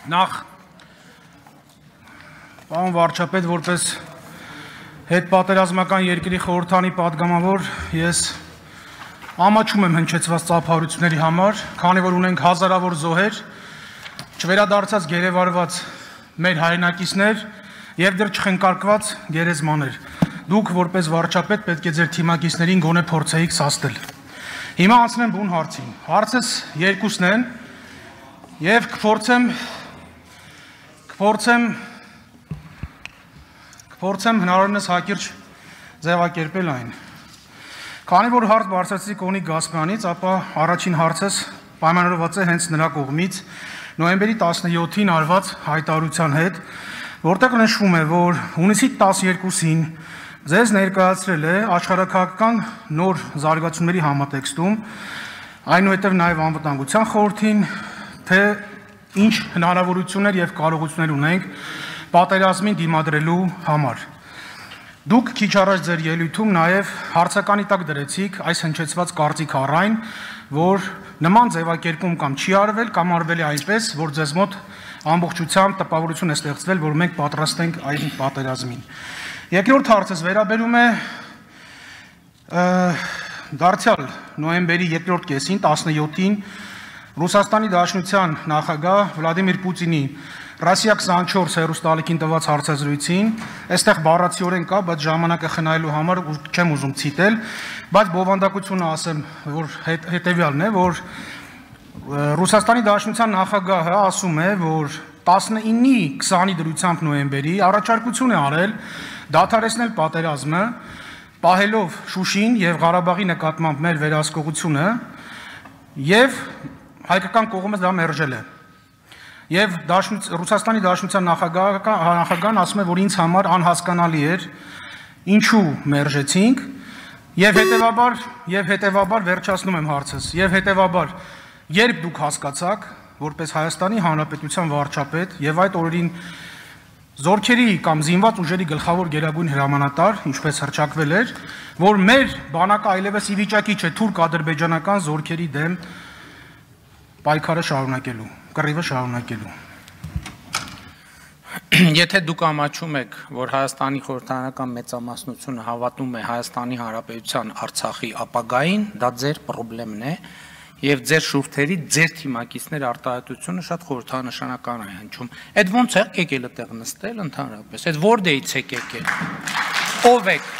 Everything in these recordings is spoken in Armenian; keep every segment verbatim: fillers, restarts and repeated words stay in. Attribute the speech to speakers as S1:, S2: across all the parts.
S1: Նախ պարոն վարչապետ, որպես հետպատերազմական երկրի խորհրդանի պատգամավոր, ես ամաչում եմ հնչեցված ծափահարությունների համար, քանի որ ունենք հազարավոր զոհեր, չվերադարձած գերեվարված մեր հայրենակիցներ եւ դեռ չխնկարկված գերեզմաներ։ Դուք որպես վարչապետ պետք է ձեր թիմակիցներին գոնե փորձեիք սաստել։ Հիմա անցնեմ բուն հարցին։ Հարցս երկուսն են եւ կփորձեմ կփորձեմ կփորձեմ հնարավորինս հակիրճ ձևակերպել այն։ Քանի որ հարց բարձրացրի Կոնիկ Գասպյանից, ապա առաջին հարցս պայմանավորված է հենց նրա կողմից նոյեմբերի տասնյոթին արված հայտարարության հետ, որտեղ նշվում է, որ հունիսի տասներկուսին ձեզ ներկայացրել է աշխարհաքաղաքական նոր զարգացումների համատեքստում, այնուհետև նաև անվտանգության խորհրդին, թե ինչ հնարավորություններ եւ կարողություններ ունենք պատերազմին դիմադրելու համար։ Դուք քիչ առաջ ձեր ելույթում նաև հարցականի տակ դրեցիք այս հնչեցված կարծիք առայն, որ նման ձևակերպում կամ չի արվել, կամ արվել է այնպես, որ ձեզ մոտ ամբողջությամբ տպավորություն է ստեղծվել, որ մենք պատրաստ ենք այն պատերազմին։ Երկրորդ հարցս վերաբերում է դարձյալ նոյեմբերի երկրորդ կեսին, տասնյոթին Ռուսաստանի Դաշնության նախագահ Վլադիմիր Պուտինի Ռասիա քսանչորս հեռուստաալիքին տված հարցազրույցին, այստեղ բառացիորեն կա, բայց ժամանակը խնայելու համար չեմ ուզում ցիտել, բայց բովանդակությունը ասեմ, որ հետևյալն է, որ Ռուսաստանի Դաշնության նախագահը ասում է, որ տասնինի քսանի դրությամբ նոյեմբերի առաջարկություն է արել դադարեցնել պատերազմը, պահելով Շուշին եւ Ղարաբաղի նկատմամբ մեր վերահսկողությունը եւ հայկական կողմը դա մերժել է։ Եվ Ռուսաստանի Դաշնության նախագահն ասում է, որ ինձ համար անհասկանալի էր ինչու մերժեցինք եւ հետեւաբար եւ հետեւաբար վերջացնում եմ հարցս եւ հետեւաբար երբ դուք հասկացաք որպես Հայաստանի Հանրապետության վարչապետ եւ այդ օրերին զորքերի կամ զինված ուժերի գլխավոր գերագույն հրամանատար, ինչպես հռչակվել էր, որ մեր բանակը այլևս ի վիճակի չէ թուրք-ադրբեջանական զորքերի դեմ պայքարը շարունակելու, կռիվը շարունակելու։
S2: Եթե դուք ամաչում եք, որ Հայաստանի խորհրդարանական մեծամասնությունը հավատում է Հայաստանի Հանրապետության Արցախի ապագային, դա ձեր խնդիրն է, եւ ձեր շուրթերի, ձեր թիմակիցներ արտահայտությունը շատ խորհրդանշանական է հնչում։ Այդ ո՞նց եք եկել այդտեղ նստել ընդհանրապես։ Այդ որտեղից եք եկել։ Ո՞վ եք։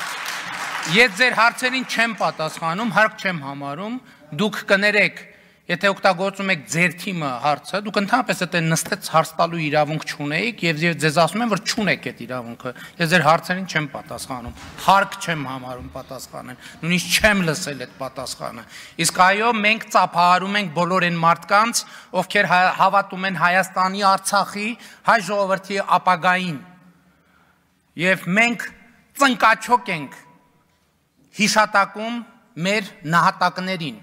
S2: Եթե ձեր հարցերին չեմ պատասխանում, հարկ չեմ համարում, դուք կներեք, եթե օգտագործում եք ձեր թիմը հարցը, դուք ընդհանրապես այդ նստեց հարց տալու իրավունք չունեիք եւ ձեզ ասում են, որ չունեք այդ իրավունքը։ Ես ձեր հարցերին չեմ պատասխանում, հարկ չեմ համարում պատասխանել, նույնիսկ չեմ լսել այդ պատասխանը։ Իսկ այո, մենք ծափահարում ենք բոլոր այն մարդկանց, ովքեր հավատում են Հայաստանի, Արցախի, հայ ժողովրդի ապագային։ Եվ մենք ծնկաչոք ենք հիշատակում մեր նահատակներին։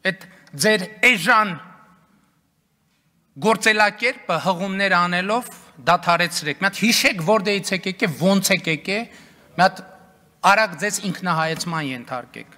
S2: Այդ ձեր էժան գործելակերպը հղումներ անելով դադարեցրեք։ Մի հատ հիշեք որտեղից եք եկել, ոնց եք եկել, մի հատ արագ ձեզ ինքնահայեցման ենթարկեք։